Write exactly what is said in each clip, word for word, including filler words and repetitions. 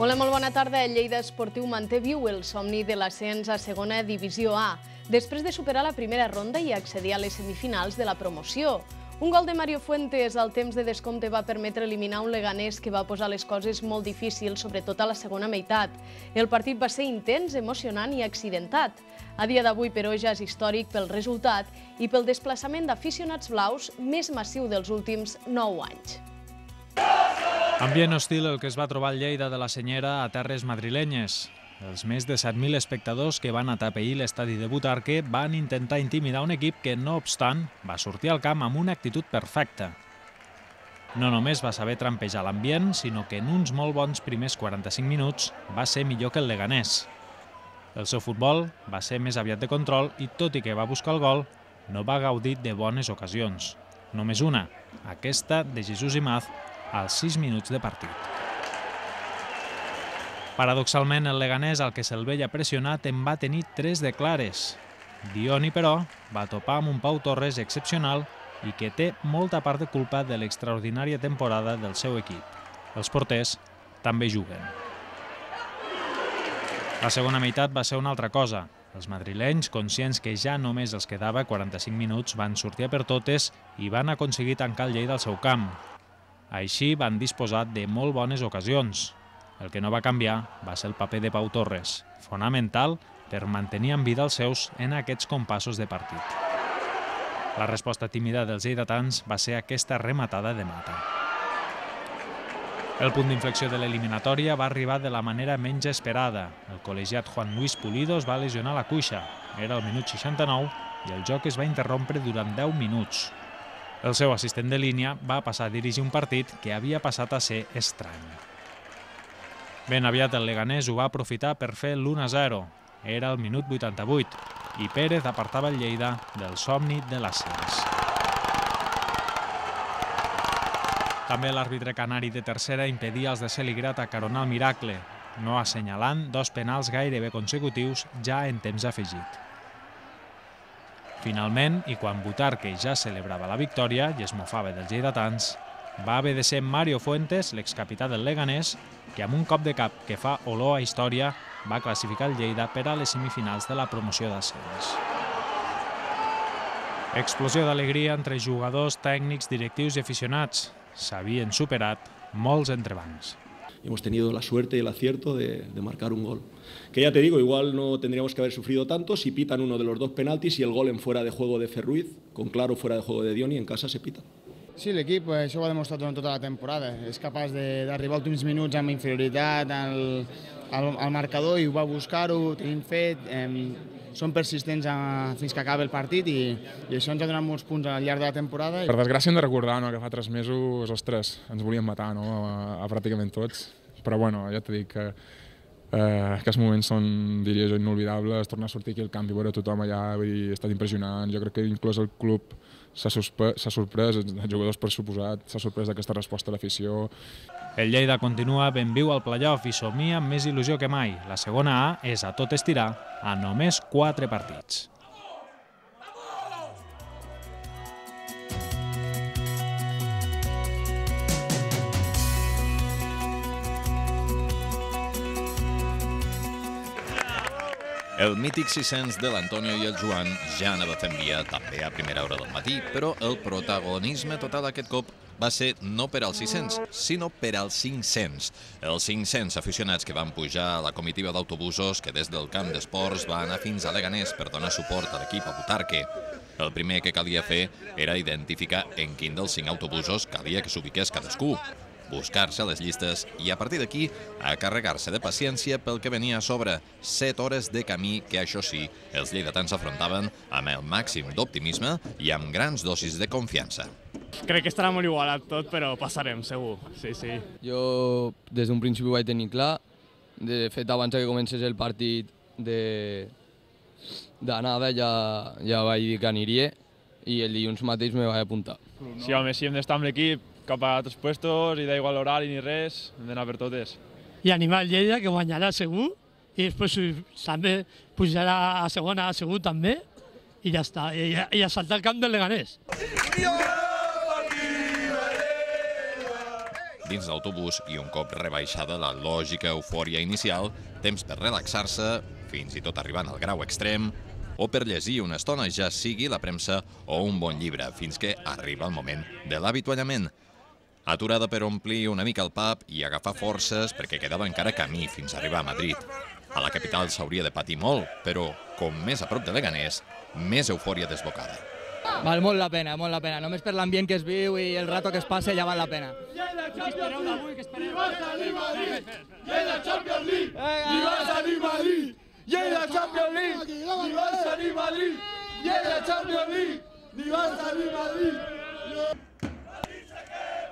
Hola, molt bona tarda. El Lleida Esportiu manté viu el somni de l'ascens a segona divisió A, després de superar la primera ronda i accedir a les semifinals de la promoció. Un gol de Mario Fuentes al temps de descompte va permetre eliminar un Leganés que va posar les coses molt difícils, sobretot a la segona meitat. El partit va ser intens, emocionant i accidentat. A dia d'avui, però, ja és històric pel resultat i pel desplaçament d'aficionats blaus més massiu dels últims nou anys. Ambient hostil el que es va trobar el Lleida de la Senyera a terres madrilenyes. Els més de set mil espectadors que van atapeir l'estadi de Butarque van intentar intimidar un equip que, no obstant, va sortir al camp amb una actitud perfecta. No només va saber trampejar l'ambient, sinó que en uns molt bons primers quaranta-cinc minuts va ser millor que el Leganés. El seu futbol va ser més aviat de control i, tot i que va buscar el gol, no va gaudir de bones ocasions. Només una, aquesta de Jesús Imaz, als sis minuts de partit. Paradoxalment, el Leganés, al que se'l veia pressionat, en va tenir tres de clares. Dioni, però, va topar amb un Pau Torres excepcional i que té molta part de culpa de l'extraordinària temporada del seu equip. Els porters també juguen. La segona meitat va ser una altra cosa. Els madrilenys, conscients que ja només els quedava quaranta-cinc minuts, van sortir a per totes i van aconseguir tancar el Lleida al seu camp. Així van disposar de molt bones ocasions. El que no va canviar va ser el paper de Pau Torres, fonamental per mantenir en vida els seus en aquests compassos de partit. La resposta tímida dels lleidatans va ser aquesta rematada de Mata. El punt d'inflexió de l'eliminatòria va arribar de la manera menys esperada. El col·legiat Juan Luis Pulido es va lesionar la cuixa. Era el minut seixanta-nou i el joc es va interrompre durant deu minuts. El seu assistent de línia va passar a dirigir un partit que havia passat a ser estrany. Ben aviat el Leganés ho va aprofitar per fer l'u a zero. Era el minut vuitanta-vuit i Pérez apartava el Lleida del somni de l'ascens. També l'àrbitre canari de tercera impedia als de Celigrat acaronar el miracle, no assenyalant dos penals gairebé consecutius ja en temps afegit. Finalment, i quan Butarque ja celebrava la victòria i es mofava dels lleidatans, va haver de ser Mario Fuentes, l'excapità del Leganés, que amb un cop de cap que fa olor a història va classificar el Lleida per a les semifinals de la promoció d'ascens. Explosió d'alegria entre jugadors, tècnics, directius i aficionats. S'havien superat molts entrebancs. Hemos tenido la suerte y el acierto de, de marcar un gol. Que ya te digo, igual no tendríamos que haber sufrido tanto si pitan uno de los dos penaltis y el gol en fuera de juego de Ferruiz, con claro fuera de juego de Dioni, en casa se pita. Sí, l'equip això ho ha demostrat durant tota la temporada. És capaç d'arribar als últims minuts amb inferioritat al, al, al marcador i ho va buscar-ho, tenim fet, eh, són persistents a, fins que acaba el partit i, i això ens ha donat molts punts al llarg de la temporada. Per desgràcia hem de recordar, no?, que fa tres mesos, ostres, ens volien matar, no?, a, a pràcticament tots. Però bueno, ja t'he dit que eh, aquests moments són, diria jo, inolvidables. Tornar a sortir aquí al camp i veure tothom allà, vull dir, ha estat impressionant. Jo crec que inclús el club s'ha sorprès, els jugadors per suposat, s'ha sorprès d'aquesta resposta a l'afició. El Lleida continua ben viu al play-off i somia amb més il·lusió que mai. La segona A és a tot estirar a només quatre partits. El mític sis-cents de l'Antonio i el Joan ja anava fent via també a primera hora del matí, però el protagonisme total aquest cop va ser no per als sis-cents, sinó per als cinc-cents. Els cinc-cents aficionats que van pujar a la comitiva d'autobusos que des del camp d'esports va anar fins a Leganés per donar suport a l'equip a Butarque. El primer que calia fer era identificar en quin dels cinc autobusos calia que s'ubiqués cadascú, buscar-se a les llistes i a partir d'aquí a carregar-se de paciència pel que venia a sobre, set hores de camí que, això sí, els lleidatans afrontaven amb el màxim d'optimisme i amb grans dosis de confiança. Crec que estarà molt igualat tot, però passarem, segur. Sí, sí. Jo des d'un principi ho vaig tenir clar. De fet, abans que comencés el partit d'anada ja, ja vaig dir que aniria i el dilluns mateix me vaig apuntar. Sí, home, si hem d'estar amb l'equip cap a altres puestos i d'igual l'horari ni res, hem d'anar per totes. I animar el Lleida, que guanyarà segur, i després també pujarà a segona segur també, i ja està, i a, i a saltar al camp del Leganés. dins l'autobús i un cop rebaixada la lògica eufòria inicial, temps per relaxar-se, fins i tot arribant al grau extrem, o per llegir una estona, ja sigui la premsa o un bon llibre, fins que arriba el moment de l'avituallament. Aturada per omplir una mica el pub i agafar forces perquè quedava encara camí fins a arribar a Madrid. A la capital s'hauria de patir molt, però, com més a prop de Leganés, més eufòria desbocada. Val molt la pena, molt la pena. Només per l'ambient que es viu i el rato que es passa ja val la pena. Què espereu d'avui? Què espereu? Lleida Champions League! Ni Barça ni Madrid! Lleida Champions League! Ni Barça ni Madrid! Lleida Champions League! Ni Barça ni Madrid!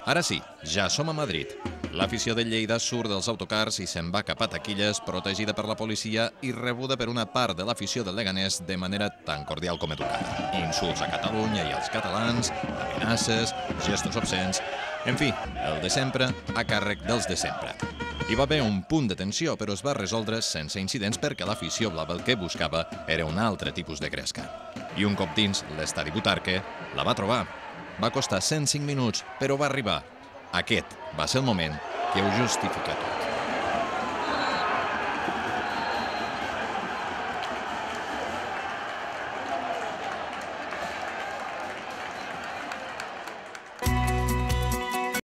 Ara sí, ja som a Madrid. L'afició de Lleida surt dels autocars i se'n va cap a taquilles, protegida per la policia i rebuda per una part de l'afició del Leganés de manera tan cordial com educada. Insults a Catalunya i als catalans, amenaces, gestos obscens... En fi, el de sempre a càrrec dels de sempre. Hi va haver un punt de tensió, però es va resoldre sense incidents perquè l'afició blava el que buscava era un altre tipus de gresca. I un cop dins l'estadi Butarque, la va trobar. Va costar cent cinc minuts, però va arribar. Aquest va ser el moment que ho justifica tot.